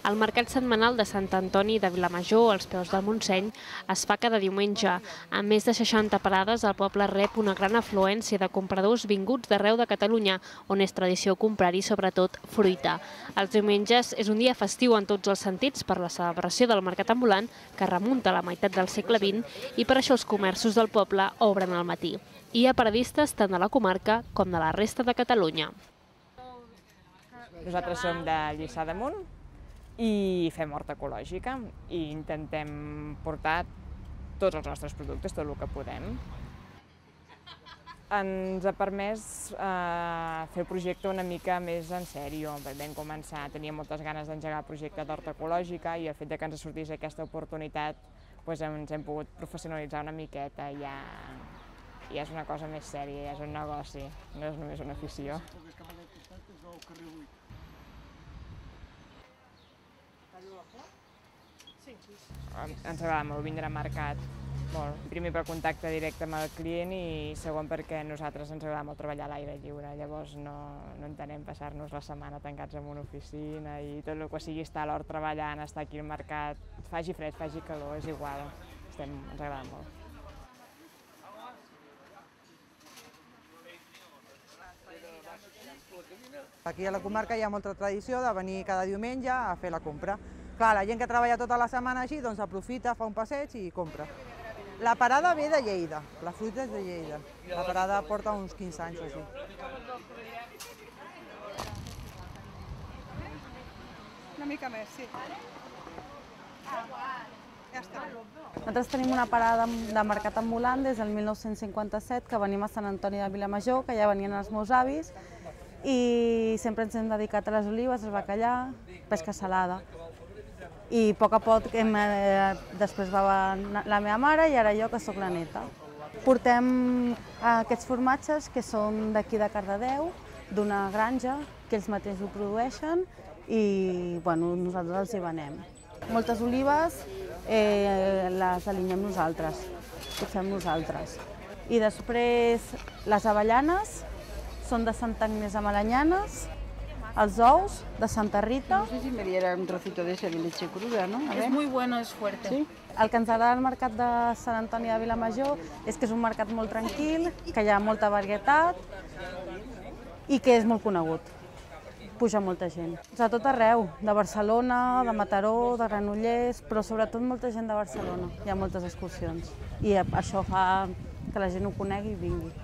El mercat setmanal de Sant Antoni de Vilamajor, als peus del Montseny, es fa cada diumenge. Amb més de 60 parades, el poble rep una gran afluència de compradors vinguts d'arreu de Catalunya, on és tradició comprar-hi sobretot fruita. Els diumenges és un dia festiu en tots els sentits per la celebració del mercat ambulant, que remunta a la meitat del segle XX, i per això els comerços del poble obren al matí. Hi ha paradistes tant de la comarca com de la resta de Catalunya. Nosaltres som de Lliçà d'Amunt i fem horta ecològica i intentem portar tots els nostres productes, tot el que podem. Ens ha permès fer el projecte una mica més en sèrio. Vam començar, teníem moltes ganes d'engegar el projecte d'horta ecològica i el fet que ens sortís aquesta oportunitat ens hem pogut professionalitzar una miqueta i ja és una cosa més sèria, ja és un negoci, no és només una afició. Ens agrada molt vindre al mercat, primer per contacte directe amb el client i segon perquè a nosaltres ens agrada molt treballar a l'aire lliure, llavors no entenem passar-nos la setmana tancats en una oficina i tot el que sigui estar a l'hort treballant, estar aquí al mercat, faci fred, faci calor, és igual, ens agrada molt. Aquí a la comarca hi ha molta tradició de venir cada diumenge a fer la compra. Clar, la gent que treballa tota la setmana així, doncs aprofita, fa un passeig i compra. La parada ve de Lleida, la fruita és de Lleida. La parada porta uns 15 anys o així. Una mica més, sí. Ja està. Nosaltres tenim una parada de mercat ambulant des del 1957, que venim a Sant Antoni de Vilamajor, que ja venien els meus avis, i sempre ens hem dedicat a les olives, al bacallà, pesca salada. I a poc a poc després va la meva mare i ara jo, que sóc la neta. Portem aquests formatges que són d'aquí de Cardedeu, d'una granja, que ells mateixos ho produeixen i nosaltres els hi venem. Moltes olives les alinyem nosaltres, ho fem nosaltres. I després les avellanes són de Santa Agnès a Malanyanes, els ous de Santa Rita. No sé si me diera un trocito de ese de leche cruda, ¿no? Es muy bueno, es fuerte. Sí? El que ens agrada del mercat de Sant Antoni de Vilamajor és que és un mercat molt tranquil, que hi ha molta varietat i que és molt conegut. Puja molta gent. De tot arreu, de Barcelona, de Mataró, de Granollers, però sobretot molta gent de Barcelona. Hi ha moltes excursions i això fa que la gent ho conegui i vingui.